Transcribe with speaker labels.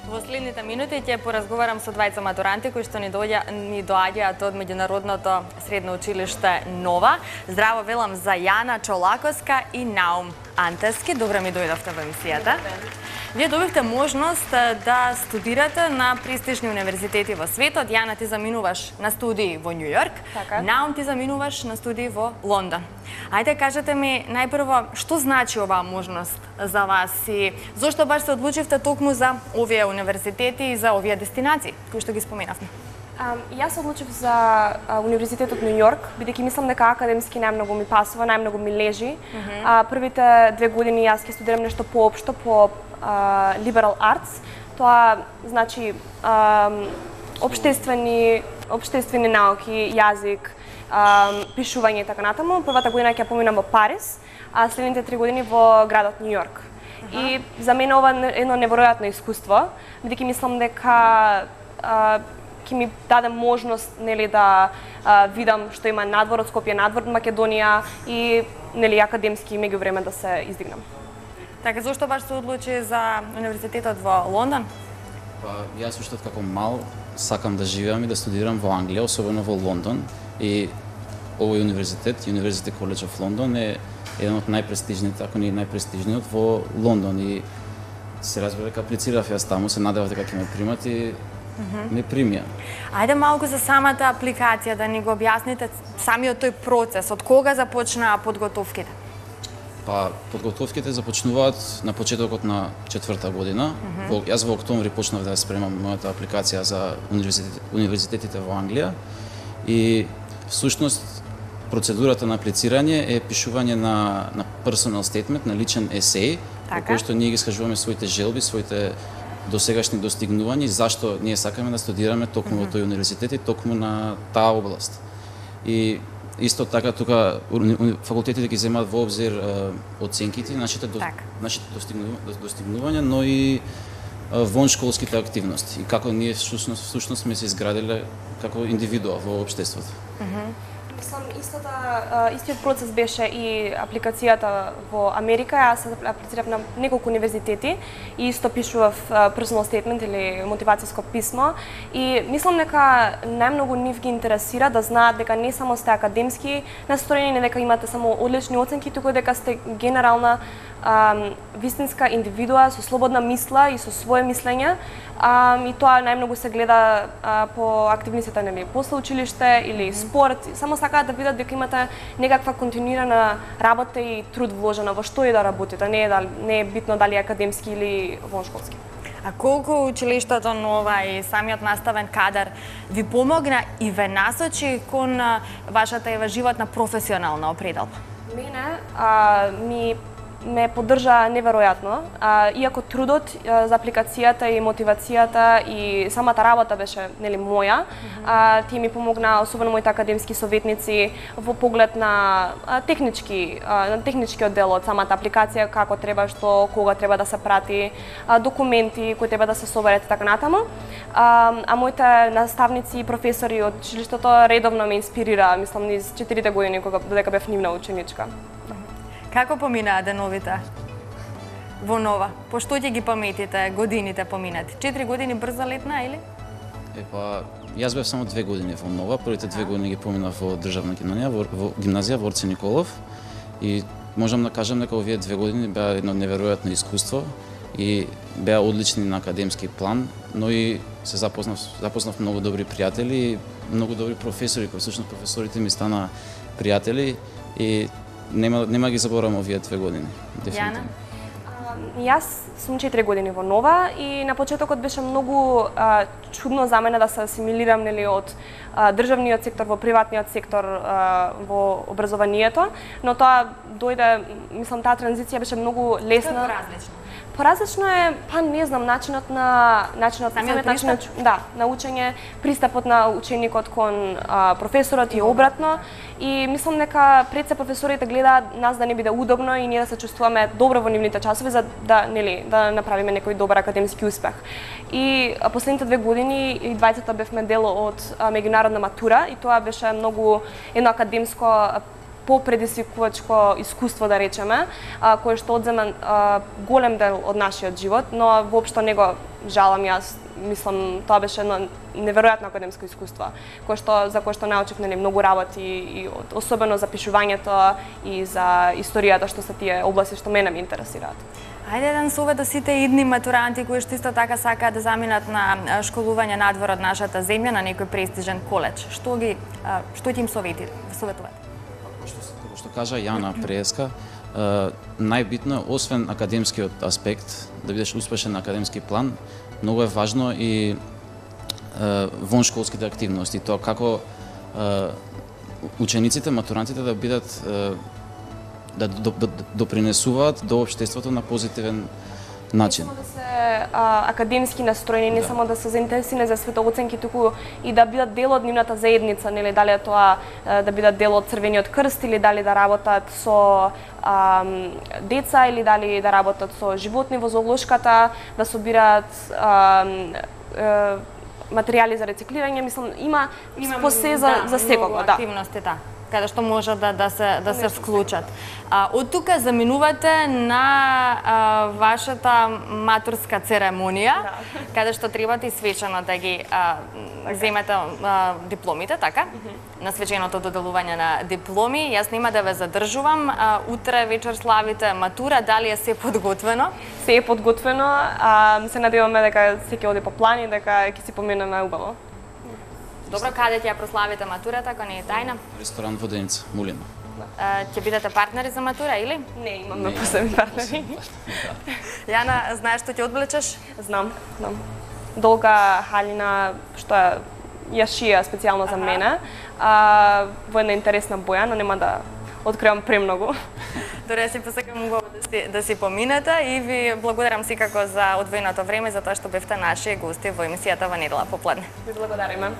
Speaker 1: Во следните минути ќе поразговарам со двајца матуранти кои што ни доаѓаат од меѓународното средно училиште Нова. Здраво велам за Јана Чолаковска и Наум Антески. Добре ми дојдовте во емисијата. Вие добивте можност да студирате на престижни универзитети во светот. Јана, ти заминуваш на студии во Њу Јорк.
Speaker 2: Така.
Speaker 1: Наум, ти заминуваш на студии во Лондон. Ајде, кажете ми најпрво што значи оваа можност за вас и зошто баш се одлучивте токму за овие универзитети и за овие дестинации кои што ги споменавме?
Speaker 2: Јас се одлучив за Универзитетот Њу Јорк, бидејќи мислам дека академски најмногу ми пасува, најмногу ми лежи. Првите 2 години јас ќе студирам нешто поопшто по liberal arts. Тоа значи општествени науки, јазик, пишување и така натаму. Првата година ќе поминам во Париз, а следните 3 години во градот Њу Јорк. И за мене ова е едно неверојатно искуство, бидејќи мислам дека ќе ми даде можност, нели, да видам што има надвор од Скопје, надвор од Македонија и, нели, академски меѓувреме да се издигнам.
Speaker 1: Така, зошто баш се одлучи за универзитетот во Лондон?
Speaker 3: Па, јас уште како мал сакам да живеам и да студирам во Англија, особено во Лондон. И овој универзитет, University College of London, е еден од најпрестижните, ако не најпрестижниот во Лондон. И се разбира дека аплицирав јас таму, се надевав дека ќе ме примат и ме примија.
Speaker 1: Ајде малку за самата апликација, да ни го објасните самиот тој процес, од кога започнаа подготовките?
Speaker 3: Па, подготовките започнуваат на почетокот на 4-та година. Јас во октомври почнав да ја спремам мојата апликација за универзитетите во Англија и всушност процедурата на аплицирање е пишување на personal statement, на личен есеј, во кој што ние ги искажуваме своите желби, своите досегашни достигнувања и зашто ние сакаме да студираме токму во тој универзитет и токму на таа област. И исто така тука факултетите ги земаат во обзир оценките, нашите достигнувања, но и воншколските активности и како ние всушност сме се изградиле како индивидуа во општеството.
Speaker 2: Мислам, истиот процес беше и апликацијата во Америка. Јас се аплицирав на неколку универзитети и исто пишував personal statement или мотивацијско писмо. И мислам дека најмногу нив ги интересира да знаат дека не само сте академски настроени, не дека имате само одлични оценки, туку дека сте генерална вистинска индивидуа со слободна мисла и со свое мислење. И тоа најмногу се гледа по активностите, нели, после училиште или спорт. Само сакаат да видат дека имате некаква континуирана работа и труд вложена во што и да работите. Не е битно дали академски или воншколски.
Speaker 1: А колку училиштето Нова и самиот наставен кадар ви помогна и ве насочи кон вашата животна професионална определба?
Speaker 2: Мене ме поддржа неверојатно, иако трудот за апликацијата и мотивацијата и самата работа беше, нели, моја, тие ми помогна, особено моите академски советници, во поглед на техничкиот дел од самата апликација, како треба, што, кога треба да се прати, документи кои треба да се соберат и така натаму. А моите наставници и професори од училиштето редовно ме инспирираа, мислам, низ 4 години додека бев нивна ученичка.
Speaker 1: Како поминаа деновите во Нова? По што ќе ги паметите годините поминати? 4 години брзо летна или?
Speaker 3: Јас бев само 2 години во Нова, првите 2 години ги поминав во државна гимназија во Орце Николов и можам да кажам дека овие 2 години беа едно неверојатно искуство и беа одлични на академски план, но и се запознав многу добри пријатели и многу добри професори, кои всушност професорите ми стана пријатели и нема ги заборавам овие 2 години.
Speaker 1: Јана?
Speaker 2: Јас сум 4 години во Нова и на почетокот беше многу чудно за мене да се асимилирам, нели, од државниот сектор во приватниот сектор во образованието, но тоа дојде, мислам, таа транзиција беше многу лесна. Поразлично е, па не знам, начинот на учење, пристапот на ученикот кон професорот и обратно. И мислам дека пред се професорите гледаат нас да не биде удобно и ние да се чувствуваме добро во нивните часови за да, нели, да направиме некој добар академски успех. И последните 2 години и двајцата бевме дел од меѓународна матура и тоа беше многу едно академско попредизвикувачко искуство, да речеме, кое што одзема голем дел од нашиот живот, но воопшто не го жалам јас. Мислам, тоа беше едно неверојатно академско искуство, за кое што научив многу работи, и особено за пишувањето и за историјата, што се тие области што мене ме интересираат.
Speaker 1: Ајде еден совет до сите идни матуранти кои што исто така сакаат да заминат на школување надвор од нашата земја на некој престижен коледж. Што ќе им советувате?
Speaker 3: Како што кажа Јана преска, најбитно е, освен академскиот аспект, да бидеш успешен на академски план, многу е важно и воншколските активности, тоа како учениците, матурантите да бидат да допринесуваат до општеството на позитивен начин.
Speaker 2: Не само да се академски настроени, не само да се заинтересирани за светооценки, туку и да бидат дел од нивната заедница, нели, дали е тоа да бидат дел од Црвениот крст или дали да работат со деца или дали да работат со животни во зоолошката, да собираат материјали за рециклирање, мислам има посе за секого, да.
Speaker 1: Активности, да, каде што може да се вклучат. Од тука заминувате на вашата матурска церемонија, каде што требате и свечено да ги земете дипломите, така? На свеченото доделување на дипломи. Јас нема да ве задржувам. Утре вечер славите матура, дали е се подготвено?
Speaker 2: Се е подготвено, се надеваме дека се ќе оди по план и дека ќе си поминеме убаво.
Speaker 1: Добро, каде ќе ја прославите матурата, ако не е тајна?
Speaker 3: Ресторан Воденица, Мулино.
Speaker 1: Ќе бидете партнери за матура, или?
Speaker 2: Не, имаме посебни партнери.
Speaker 1: Јана, знаеш што ќе одблечеш?
Speaker 2: Знам. Долга халина, што ја шија специјално за мене, во една интересна боја, но нема да откривам премногу.
Speaker 1: Добре, си посакам убаво да си поминете и ви благодарам секако за одвоеното време, за тоа што бевте наши гости во емисијата Во недела попладне.
Speaker 2: Ви благодариме.